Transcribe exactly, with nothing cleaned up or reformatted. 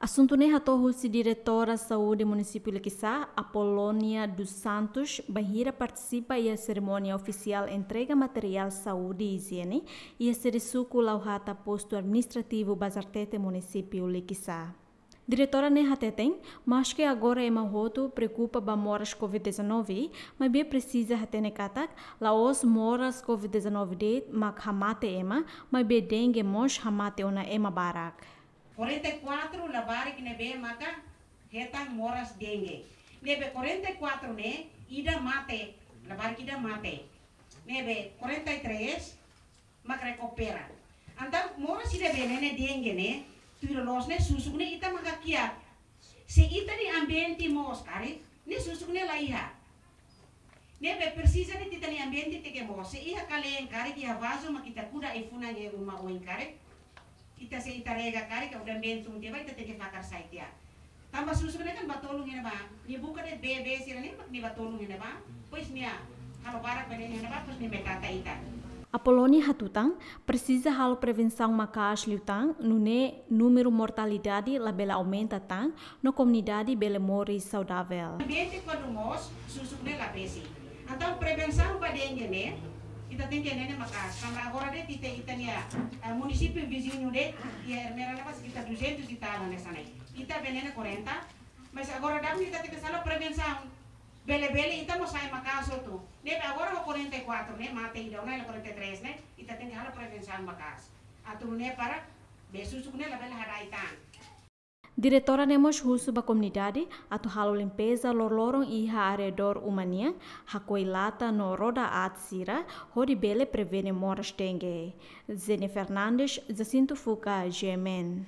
Asuntu ne'e hato'o husi Diretora Saúde Munisípiu Likisá, Apolónia dos Santos, bainhira partisipa iha serimónia ofisiál entrega materiál saúde e ijiene iha sede suku Lauhata, Postu Administrativu Bazartete, Munisípiu Likisá. Diretora ne'e hateten, maske agora ema hotu preokupa ba moras covid dezanove, maibé presiza hatene katak, la'ós moras covid dezanove de'it mak hamate ema, maibé dengue mós hamate ona ema barak. Quarenta e quatro labarik ne'ebé maka hetan moras dengue. Ne'ebé quarenta e quatro ne'e ida mate, labarik ida mate. Ne'ebé quarenta e três mak rekupera. Entaun moras ida-ne'ebé ne'e dengue ne'e, tuir loloos ne'e susuk ne'e ita maka kiak. Se ita-nia ambiente moos karik, ne'e susuk ne'e la iha. Ne'ebé presiza de'it ita-nia ambiente tenke moos. Se iha kaleen karik, iha vazu mak ita kuda ai-funan iha uma oin karik. Ita se ita rega karik, ka udan bentun tiha ba ita tenke fakar sai tiha. Tanba susuk ne'e kan bá tolun iha ne'ebá. Nia buka de'it bee-bee sira-ne'e, mak nia bá tolun iha ne'ebá. Depois nia halo barak ba ne'e iha ne'ebá, depois nia mai trata ita. Apolónia hatutan, presiza halo prevensaun maka'as liután, nune'e númeru mortalidade labele aumenta tan, no komunidade bele moris saudavel. Ambiente kuandu moos, susuk ne'e la besik. Entaun prevensaun ba dengue ne'e, ita tenke hatene maka'as. Tanba agora de'it ita, ita-nia, eh, munisípiu viziñu de'it, iha Ermera ne'ebá sekitar duzentos e tal hanesan ne'e. Ita bele hatene quarenta, mas agora daudaun ita tenke halo prevensaun. Bele-bele ita mós sai maka'as hotu. Ne'ebé agora ho quarenta e quatro ne'e, mate ida ona iha quarenta e três ne'e, ita tenke halo prevensaun maka'as. Atu nune'e para bee susuk ne'e labele hada'et tan. Diretora ne'e mós husu ba komunidade atu halo limpeza loroloron iha arredór uma nian, hakoi lata no roda aat sira, hodi bele prevene moras dengue. Zene Fernandes, Jacinto Fuca, G M N.